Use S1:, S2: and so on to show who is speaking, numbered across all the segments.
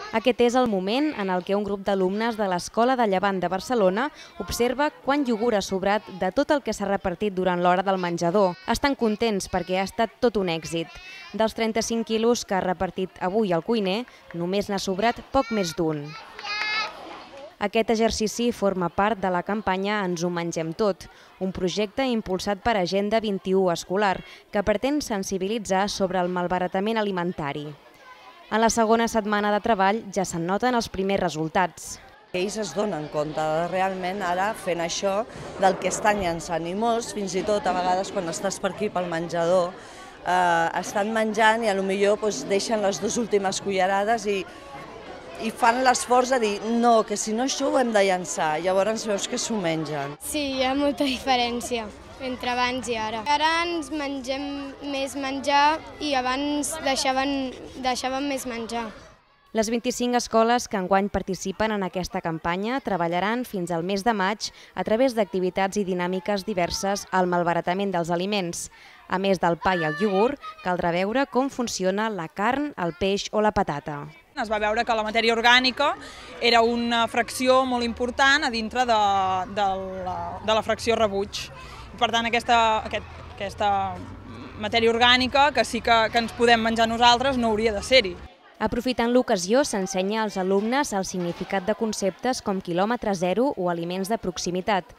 S1: Aquest és el moment en el que un grup d'alumnes de l'Escola de Llevant de Barcelona observa quant iogurt ha sobrat de tot el que s'ha repartit durant l'hora del menjador. Estan contents perquè ha estat tot un èxit. Dels 35 quilos que ha repartit avui el cuiner, només n'ha sobrat poc més d'un. Aquest exercici forma part de la campanya Ens ho mengem tot, un projecte impulsat per Agenda 21 Escolar que pretén sensibilitzar sobre el malbaratament alimentari. En la segona setmana de treball ja se'n noten els primers resultats.
S2: Ells es donen compte de realment ara fent això del que estan llançant i molts, fins i tot a vegades quan estàs per aquí pel menjador, estan menjant i potser deixen les dues últimes cullerades i fan l'esforç de dir no, que si no això ho hem de llançar, llavors veus que s'ho mengen.
S3: Sí, hi ha molta diferència entre abans i ara. Ara ens mengem més menjar i abans deixàvem més menjar.
S1: Les 25 escoles que enguany participen en aquesta campanya treballaran fins al mes de maig a través d'activitats i dinàmiques diverses al malbaratament dels aliments. A més del pa i el iogurt, caldrà veure com funciona la carn, el peix o la patata.
S4: Es va veure que la matèria orgànica era una fracció molt important a dintre de la fracció rebuig. Per tant, aquesta matèria orgànica, que sí que ens podem menjar nosaltres, no hauria de ser-hi.
S1: Aprofitant l'ocasió, s'ensenya als alumnes el significat de conceptes com quilòmetre zero o aliments de proximitat.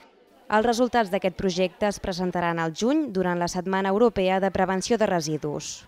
S1: Els resultats d'aquest projecte es presentaran al juny durant la Setmana Europea de Prevenció de Residus.